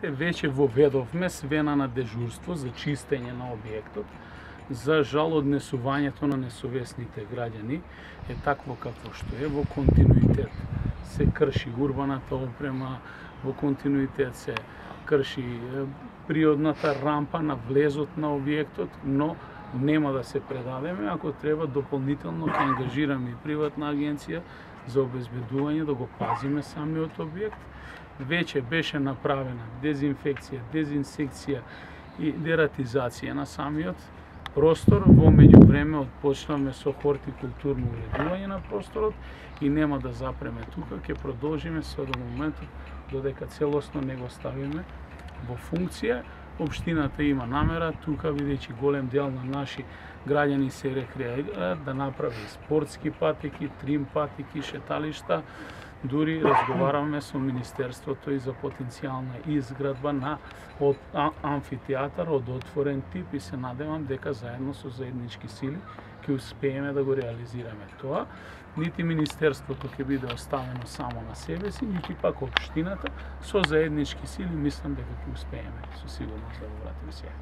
граѓаните, веќе воведовме свена на дежурство за чистење на објектот. За жал, однесувањето на несовесните граѓани е такво какво што е, во континуитет се крши урбаната опрема, во континуитет се крши природната рампа на влезот на објектот, но нема да се предадеме, ако треба дополнително ќе ангажираме и приватна агенција за обезбедување да го пазиме самиот објект. Веќе беше направена дезинфекција, дезинсекција и дератизација на самиот простор. Во меѓувреме отпочнавме со хортикултурно уредување на просторот и нема да запреме тука, ќе продолжиме се до моментот додека целосно не го ставиме во функција. Општината има намера тука, бидејќи голем дел на наши граѓани се рекреираат, да направи спортски патеки, трим патеки, шеталишта. Дури разговараме со Министерството и за потенцијална изградба на амфитеатар од отворен тип и се надевам дека заедно со заеднички сили ќе успееме да го реализираме тоа. Нити Министерството ќе биде оставено само на себе си, нити пак општината. Со заеднички сили мислам дека ќе успееме со сигурност да го вратиме сега.